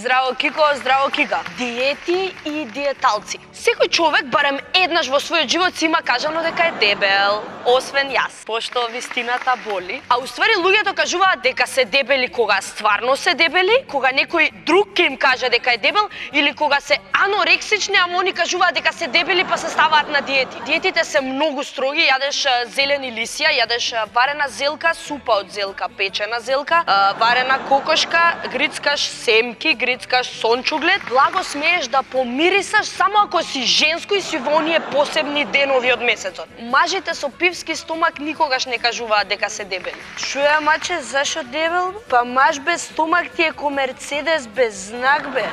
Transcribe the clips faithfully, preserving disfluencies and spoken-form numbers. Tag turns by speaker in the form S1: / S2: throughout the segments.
S1: Здраво Кико, здраво Кика. Диети и диеталци. Секој човек барем еднаш во својот живот си има кажано дека е дебел, освен јас, пошто вистината боли. А уствари луѓето кажуваат дека се дебели кога стварно се дебели, кога некој друг ќе им каже дека е дебел, или кога се анорексични, ама они кажуваат дека се дебели па се ставаат на диети. Диетите се многу строги, јадеш зелени лисија, јадеш варена зелка, супа од зелка, печена зелка, варена кокошка, грицкаш семки, грицкаш сончуглед, благо смееш да помирисаш само ако си женско и си во оние посебни денови од месецот. Мажите со пивски стомак никогаш не кажуваат дека се дебели. Шуја маче, зашо дебел? Па маж без стомак ти е ко Мерцедес без знак бе.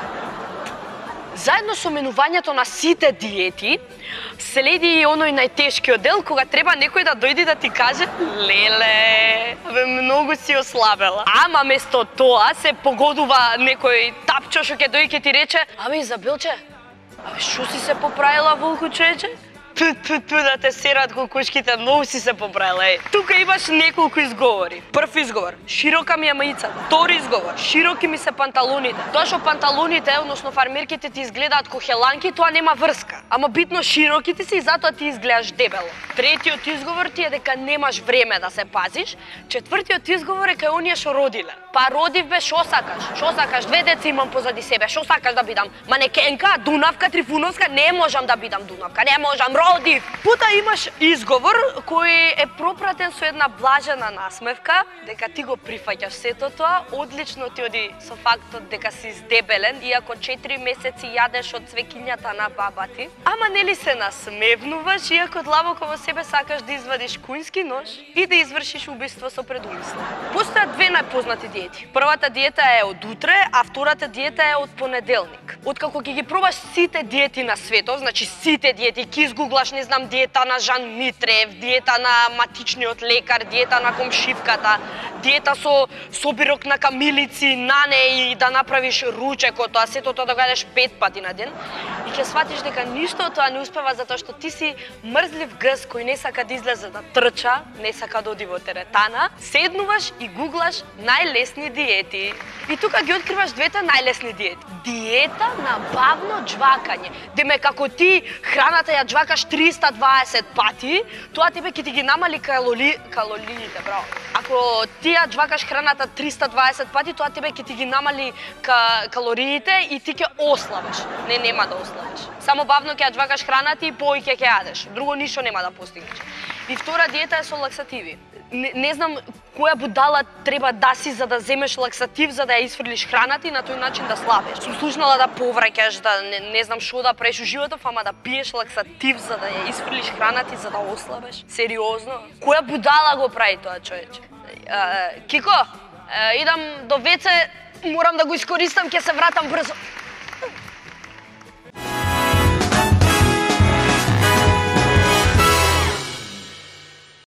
S1: Заедно со менувањето на сите диети, следи и оној најтешкиот дел кога треба некој да дојде да ти каже леле, бе многу си ослабела. Ама место тоа се погодува некој тапчо што ќе дојде ќе ти рече: "Абе Изабелче, абе шо си се поправила волку човече?" Ту, ту, ту, да те серат кокушките, многу си се поправила. Е. Тука имаш неколку изговори. Прв изговор, широка ми е маицата. Втори изговор, широки ми се панталоните. Тоа што панталоните, односно фармерките ти изгледаат ко хеланки, тоа нема врска. Ама битно широки ти си и затоа ти изгледаш дебело. Третиот изговор ти е дека немаш време да се пазиш. Четвртиот изговор е кај оние што родиле. Па родив бе, шо сакаш? Шо сакаш? Две деца имам позади себе. Шо сакаш да бидам? Манекенка, Дунавка, Трифуновска? Не можам да бидам Дунавка. Не можам. Родив. Пута имаш изговор кој е пропратен со една блажена насмевка, дека ти го прифаќаш сето тоа, одлично ти оди со фактот дека си издебелен, иако четири месеци јадеш од цвекињата на баба ти. Ама нели се насмевнуваш, иако длабоко во себе сакаш да извадиш кујнски нож и да извршиш убиство со предумисла. Постојат две најпознати диети. Првата диета е од утре, а втората диета е од понеделник. Откако ќе ги пробаш сите диети на светот, значи сите диети, ќе изгуглаш, не знам, диета на Жан Митрев, диета на матичниот лекар, диета на комшивката, диета со собирок на камилици, нане и да направиш ручекот, а сето тоа да го јадеш пет пати на ден, и ќе сватиш дека ништо од тоа не успева затоа што ти си мрзлив гъс кој не сака да излезе да трча, не сака да оди во теретана, седнуваш и гуглаш најлесни диети. И тука ги откриваш двете најлесни диети. Диета на бавно џвакање. Деме, како ти храната ја џвакаш триста дваесет пати, тоа тебе ќе ти ги намали калори... калориите, браво. Ако ти ја џвакаш храната триста дваесет пати, тоа тебе ќе ти ги намали ка... калориите и ти ќе ослабеш. Не, нема да ослабеш. Само бавно ќе ја џвакаш храната и повеќе ќе јадеш. Друго ништо нема да постигнеш. И втора диета е со лаксативи. Не, не знам која будала треба да си за да земеш лаксатив за да ја исфрлиш храната и на тој начин да слабеш. Сум слушнала да повраќаш, да не, не знам што да правиш у животот, ама да пиеш лаксатив за да ја исфрлиш храната и за да ослабеш. Сериозно? Која будала го прави тоа, човече? Кико, идам до веце, морам да го искористам, ќе се вратам брзо.